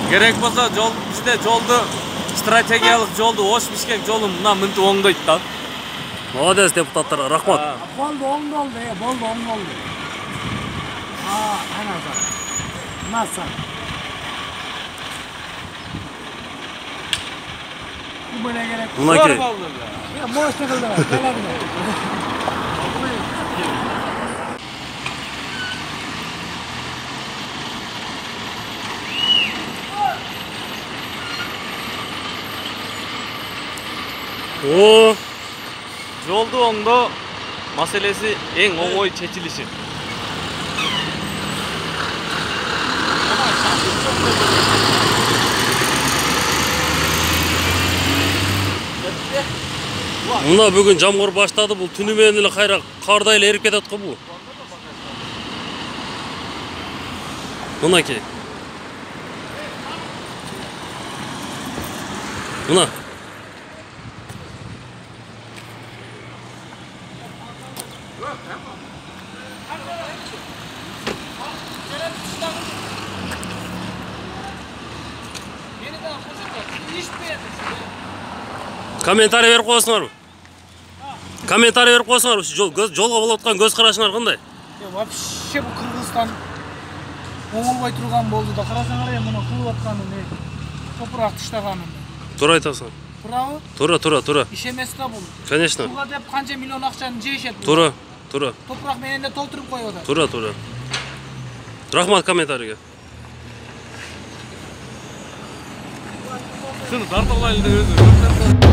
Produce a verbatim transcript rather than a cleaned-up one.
Керек болса жол бизде жолду стратегиялык жолду Ош Бишкек жолун мына мынтип оңдойт да. Молодец депутаттарга рахмат. Болду, оңдолду, э, болду, оңдолду. А, ana zat. Masa. Bu böyle gerek. Mınaki. Ya boş takıldı. Gelemdi. Oo, Жолду оңдоо маселеси эң оңой чечилиши. мына бүгүн жамгыр баштады, бул түнү менен эле кайра кардай эле эрип кетет го бул. Мынакей. Мына. Комментарий берип коесуңарбы? Комментарий берип коесуңарбы? Жол жолго болуп аткан көз карашыңар кандай? Вообще bu Кыргызстан оңолбой турган болду да. Карасаңар эми муну кылып атканын, топурак таштаганын. Туура айтасың. Туурабы? Туура, туура, туура. Иш эмес да бул. Конечно. Буга деп канча миллион акчаны жешет. Туура, туура. Топурак менен де толтуруп коюп атат. Туура, туура. Рахмат комментарийге. Сыны тартып алайлы деп өзү.